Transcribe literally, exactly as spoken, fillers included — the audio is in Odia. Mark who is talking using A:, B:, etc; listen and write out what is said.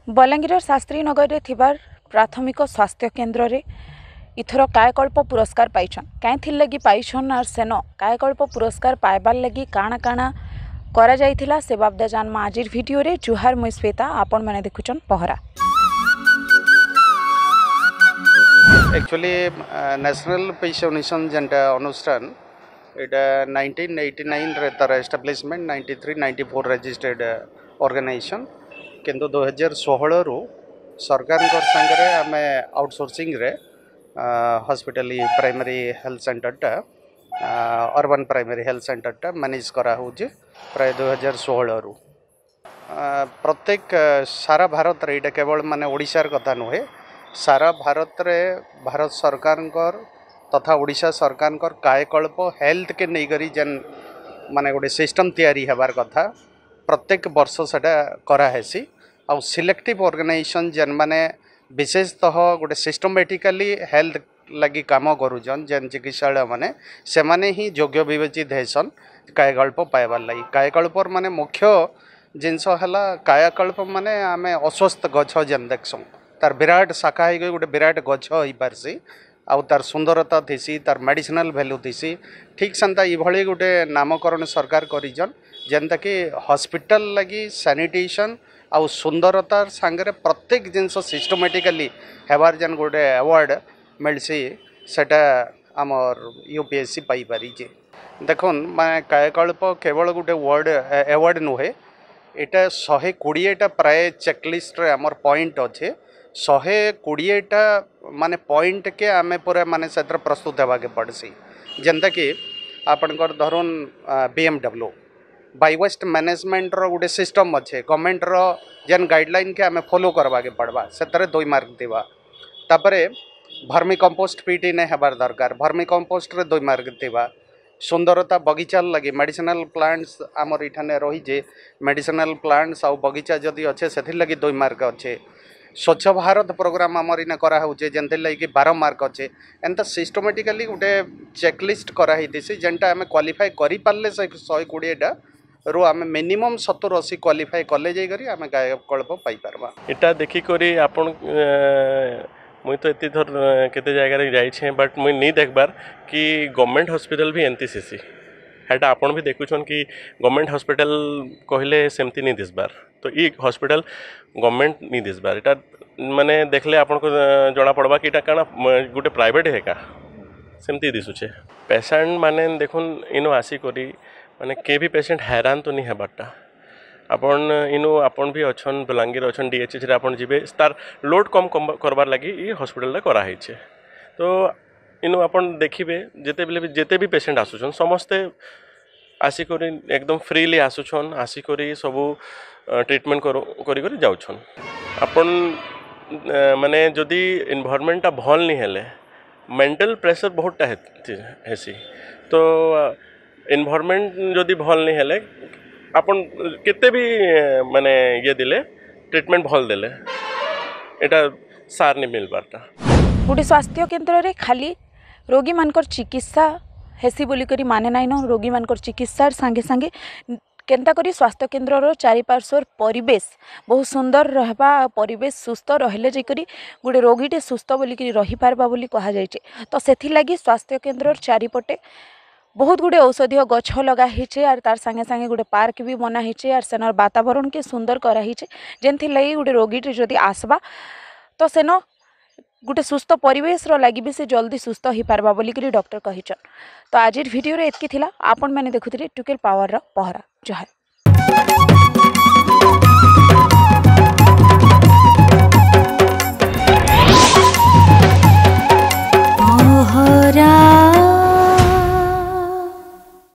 A: ବଲାଙ୍ଗୀରର ଶାସ୍ତ୍ରୀ ନଗରରେ ଥିବାର ପ୍ରାଥମିକ ସ୍ୱାସ୍ଥ୍ୟ କେନ୍ଦ୍ରରେ ଇଥର କାୟକଳ୍ପ ପୁରସ୍କାର ପାଇଛନ୍। କାଇଁଥିର୍ ଲାଗି ପାଇଛନ୍ ଆର୍ ସେନ କାୟକଳ୍ପ ପୁରସ୍କାର ପାଇବାର୍ ଲାଗି କାଣା କାଣା କରାଯାଇଥିଲା, ସେ ବାବଦେ ଜାନମା ଆଜିର ଭିଡ଼ିଓରେ। ଜୁହାର, ମୁଇଁ ଶ୍ଵେତା, ଆପଣମାନେ ଦେଖୁଛନ୍ ପହରା।
B: ଆକ୍ଚୁଆଲି ନ୍ୟାସନାଲ୍ ପିସ୍ ମିଶନ ଯେନ୍ଟା ଅନୁଷ୍ଠାନ, ଏଇଟା ନାଇନଟିନ୍ ଏଇଟି ନାଇନ୍ରେ ତାର establishment, ninety three ninety four registered organization। କିନ୍ତୁ ଦୁଇହଜାର ଷୋହଳରୁ ସରକାରଙ୍କ ସାଙ୍ଗରେ ଆମେ ଆଉଟସୋର୍ସିଂରେ ହସ୍ପିଟାଲ, ପ୍ରାଇମେରୀ ହେଲ୍ଥ ସେଣ୍ଟରଟା, ଅର୍ବାନ୍ ପ୍ରାଇମେରୀ ହେଲ୍ଥ ସେଣ୍ଟରଟା ମ୍ୟାନେଜ୍ କରାହେଉଛି ପ୍ରାୟ ଦୁଇହଜାର ଷୋହଳରୁ। ପ୍ରତ୍ୟେକ ସାରା ଭାରତରେ, ଏଇଟା କେବଳ ମାନେ ଓଡ଼ିଶାର କଥା ନୁହେଁ, ସାରା ଭାରତରେ ଭାରତ ସରକାରଙ୍କର ତଥା ଓଡ଼ିଶା ସରକାରଙ୍କର କାୟକଳ୍ପ ହେଲ୍ଥକେ ନେଇକରି ଯେନ୍ ମାନେ ଗୋଟେ ସିଷ୍ଟମ୍ ତିଆରି ହେବାର କଥା, ପ୍ରତ୍ୟେକ ବର୍ଷ ସେଟା କରାହେସି। ଆଉ ସିଲେକ୍ଟିଭ୍ ଅର୍ଗାନାଇଜେସନ୍ ଯେନ୍ମାନେ ବିଶେଷତଃ ଗୋଟେ ସିଷ୍ଟମେଟିକାଲି ହେଲ୍ଥ ଲାଗି କାମ କରୁଛନ୍, ଯେନ୍ ଚିକିତ୍ସାଳୟ ମାନେ, ସେମାନେ ହିଁ ଯୋଗ୍ୟ ବିବେଚିତ ହେସନ୍ କାୟକଳ୍ପ ପାଇବାର୍ ଲାଗି। କାୟକଳ୍ପର ମାନେ ମୁଖ୍ୟ ଜିନିଷ ହେଲା, କାୟାକଳ୍ପ ମାନେ ଆମେ ଅଶ୍ୱତ୍ଥ ଗଛ ଯେନ୍ ଦେଖସୁଁ, ତାର ବିରାଟ ଶାଖା ହେଇକି ଗୋଟେ ବିରାଟ ଗଛ ହେଇପାରସି ଆଉ ତାର ସୁନ୍ଦରତା ଥିସି, ତାର ମେଡ଼ିସିନାଲ ଭ୍ୟାଲୁ ଥିସି। ଠିକ୍ ସେନ୍ତା ଏଇଭଳି ଗୋଟେ ନାମକରଣ ସରକାର କରିଛନ୍, ଯେନ୍ଟାକି ହସ୍ପିଟାଲ ଲାଗି ସାନିଟେସନ୍ ଆଉ ସୁନ୍ଦରତାର ସାଙ୍ଗରେ ପ୍ରତ୍ୟେକ ଜିନିଷ ସିଷ୍ଟମେଟିକାଲି ହେବାର ଯେନ୍ ଗୋଟେ ଆୱାର୍ଡ଼ ମିଲ୍ସି, ସେଟା ଆମର୍ ୟୁ ପି ଏଚ୍ ସି ପାଇପାରିଛେ। ଦେଖୁନ୍, ମାନେ କାୟକଳ୍ପ କେବଳ ଗୋଟେ ୱାର୍ଡ଼ ଆୱାର୍ଡ଼ ନୁହେଁ, ଏଇଟା ଶହେ କୋଡ଼ିଏଟା ପ୍ରାୟ ଚେକଲିଷ୍ଟରେ ଆମର ପଏଣ୍ଟ ଅଛେ। ଶହେ କୋଡ଼ିଏଟା ମାନେ ପଏଣ୍ଟକେ ଆମେ ପୁରା ମାନେ ସେଥିରେ ପ୍ରସ୍ତୁତ ହେବାକେ ପଡ଼୍ସି। ଯେନ୍ତାକି ଆପଣଙ୍କର ଧରୁନ୍ B M W, bio waste ମ୍ୟାନେଜମେଣ୍ଟର ଗୋଟେ ସିଷ୍ଟମ୍ ଅଛେ, ଗଭର୍ଣ୍ଣମେଣ୍ଟର ଯେନ୍ ଗାଇଡ଼ଲାଇନ୍କେ ଆମେ ଫଲୋ କରବାକେ ପଡ଼ବା, ସେଥିରେ ଦୁଇ ମାର୍କ ଥିବା। ତାପରେ ଭର୍ମି କମ୍ପୋଷ୍ଟ ପିଟ୍ ନାଇଁ ହେବାର ଦରକାର, ଭର୍ମି କମ୍ପୋଷ୍ଟରେ ଦୁଇ ମାର୍କ ଥିବା। ସୁନ୍ଦରତା ବଗିଚାର ଲାଗି ମେଡ଼ିସିନାଲ ପ୍ଲାଣ୍ଟସ୍ ଆମର ଏଠାନେ ରହିଛେ, ମେଡ଼ିସିନାଲ ପ୍ଲାଣ୍ଟସ୍ ଆଉ ବଗିଚା ଯଦି ଅଛେ, ସେଥିର୍ ଲାଗି ଦୁଇ ମାର୍କ ଅଛେ। ସ୍ୱଚ୍ଛ ଭାରତ ପ୍ରୋଗ୍ରାମ ଆମର ଇନେ କରାହେଉଛେ, ଯେନ୍ଥିର୍ ଲାଗି ବାର ମାର୍କ ଅଛେ। ଏନ୍ତା ସିଷ୍ଟମେଟିକାଲି ଗୋଟେ ଚେକଲିଷ୍ଟ କରାହେଇଥିସି, ଯେନ୍ଟା ଆମେ କ୍ୱାଲିଫାଏ କରିପାରିଲେ ସେ ଶହେ କୋଡ଼ିଏଟା ରୁ ଆମେ ମିନିମମ୍ ସତୁର ଅଶୀ କ୍ୱାଲିଫାଏ କଲେ ଯାଇକରି ଆମେ କାୟକଳ୍ପ ପାଇପାରବା।
C: ଏଟା ଦେଖିକରି ଆପଣ, ମୁଇଁ ତ ଏତେ ଥର କେତେ ଜାଗାରେ ଯାଇଛେଁ, ବଟ୍ ମୁଇଁ ନି ଦେଖବାର୍ କି ଗଭର୍ଣ୍ଣମେଣ୍ଟ ହସ୍ପିଟାଲ ବି ଏମିତି ଥିସି। ହେଟା ଆପଣ ବି ଦେଖୁଛନ୍ କି ଗଭର୍ଣ୍ଣମେଣ୍ଟ ହସ୍ପିଟାଲ କହିଲେ ସେମିତି ନି ଦିଶବାର୍। ତ ଇ ହସ୍ପିଟାଲ ଗଭର୍ଣ୍ଣମେଣ୍ଟ ନି ଦିଶବାର୍। ଏଟା ମାନେ ଦେଖିଲେ ଆପଣଙ୍କୁ ଜଣା ପଡ଼ବା କି ଏଟା କାଣା ଗୋଟେ ପ୍ରାଇଭେଟ୍ ହେକା, ସେମିତି ଦିଶୁଛେ। ପେସେଣ୍ଟ ମାନେ ଦେଖୁନ୍, ଇନୁ ଆସିକରି ମାନେ କେ ବି ପେସେଣ୍ଟ ହଇରାଣ ତ ନି ହେବାରଟା। ଆପଣ ଇନୁ ଆପଣ ବି ଅଛନ୍, ବଲାଙ୍ଗୀର ଅଛନ୍, ଡିଏଚ୍ଏଚ୍ରେ ଆପଣ ଯିବେ, ତାର ଲୋଡ୍ କମ୍ କରବାର୍ ଲାଗି ଇ ହସ୍ପିଟାଲଟା କରାହେଇଛେ। ତ ଇନୁ ଆପଣ ଦେଖିବେ, ଯେତେବେଲେ ବି ଯେତେ ବି ପେସେଣ୍ଟ ଆସୁଛନ୍, ସମସ୍ତେ ଆସିକରି ଏକଦମ ଫ୍ରିଲି ଆସୁଛନ୍, ଆସିକରି ସବୁ ଟ୍ରିଟମେଣ୍ଟ କରି କରି ଯାଉଛନ୍। ଆପଣ ମାନେ ଯଦି ଏନଭାରମେଣ୍ଟଟା ଭଲ୍ ନି ହେଲେ ମେଣ୍ଟାଲ ପ୍ରେସର ବହୁତଟା ହେସି। ତ ଏନଭାରମେଣ୍ଟ ଯଦି ଭଲ୍ ନି ହେଲେ, ଆପଣ କେତେ ବି ମାନେ ଇଏ ଦେଲେ, ଟ୍ରିଟମେଣ୍ଟ ଭଲ୍ ଦେଲେ, ଏଟା ସାର୍ ନି ମିଲବାରଟା।
A: ଗୋଟେ ସ୍ୱାସ୍ଥ୍ୟ କେନ୍ଦ୍ରରେ ଖାଲି ରୋଗୀମାନଙ୍କର ଚିକିତ୍ସା ହେସି ବୋଲିକରି ମାନେ ନାଇଁନ। ରୋଗୀମାନଙ୍କର ଚିକିତ୍ସାର ସାଙ୍ଗେ ସାଙ୍ଗେ କେନ୍ତା କରି ସ୍ୱାସ୍ଥ୍ୟ କେନ୍ଦ୍ରର ଚାରିପାର୍ଶ୍ୱର ପରିବେଶ ବହୁତ ସୁନ୍ଦର ରହିବା, ପରିବେଶ ସୁସ୍ଥ ରହିଲେ ଯାଇକରି ଗୋଟେ ରୋଗୀଟେ ସୁସ୍ଥ ବୋଲିକିରି ରହିପାରବା ବୋଲି କୁହାଯାଇଛି। ତ ସେଥିଲାଗି ସ୍ୱାସ୍ଥ୍ୟ କେନ୍ଦ୍ରର ଚାରିପଟେ ବହୁତ ଗୁଡ଼ିଏ ଔଷଧୀୟ ଗଛ ଲଗା ହେଇଛେ, ଆର୍ ତାର୍ ସାଙ୍ଗେ ସାଙ୍ଗେ ଗୋଟେ ପାର୍କ ବି ବନା ହେଇଛେ, ଆର୍ ସେନର ବାତାବରଣକେ ସୁନ୍ଦର କରାହେଇଛେ, ଯେନ୍ଥିର୍ ଲାଗି ଗୋଟେ ରୋଗୀଟେ ଯଦି ଆସ୍ବା ତ ସେନ ଗୋଟେ ସୁସ୍ଥ ପରିବେଶର ଲାଗି ବି ସେ ଜଲ୍ଦି ସୁସ୍ଥ ହେଇପାରବା ବୋଲିକିରି ଡକ୍ଟର କହିଛନ୍। ତ ଆଜିର ଭିଡ଼ିଓରେ ଏତ୍କି ଥିଲା। ଆପଣମାନେ ଦେଖୁଥିଲେ ଟୁକେଲ ପାୱାରର ପହରା। ଜୁହାର।